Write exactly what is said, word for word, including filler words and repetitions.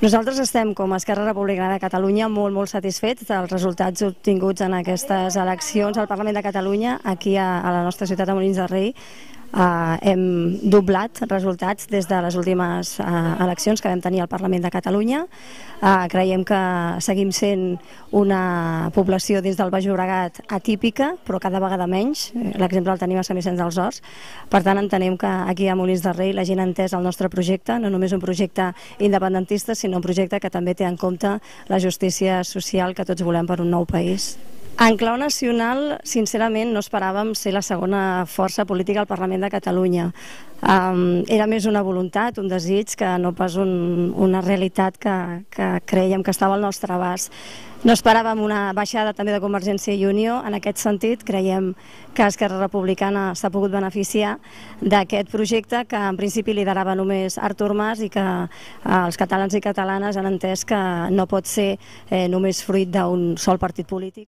Nosaltres estem, com a Esquerra Republicana de Catalunya, molt, molt satisfets dels resultats obtinguts en aquestes eleccions al Parlament de Catalunya. Aquí a, a la nostra ciutat de Molins de Rei eh, hem doblat resultats des de les últimes eh, eleccions que vam tenir al Parlament de Catalunya. Eh, creiem que seguim sent una població dins del Baix Llobregat atípica, però cada vegada menys. L'exemple el tenim a Sant Vicenç dels Horts. Per tant, entenem que aquí a Molins de Rei la gent ha entès el nostre projecte, no només un projecte independentista, sinó un projecte que també té en compte la justícia social que tots volem per un nou país. En clau nacional, sincerament, no esperàvem ser la segona força política al Parlament de Catalunya. Um, era més una voluntat, un desig, que no pas un, una realitat que, que creiem que estava al nostre abast. No esperàvem una baixada també de Convergència i Unió. En aquest sentit, creiem que Esquerra Republicana s'ha pogut beneficiar d'aquest projecte que en principi liderava només Artur Mas i que eh, els catalans i catalanes han entès que no pot ser eh, només fruit d'un sol partit polític.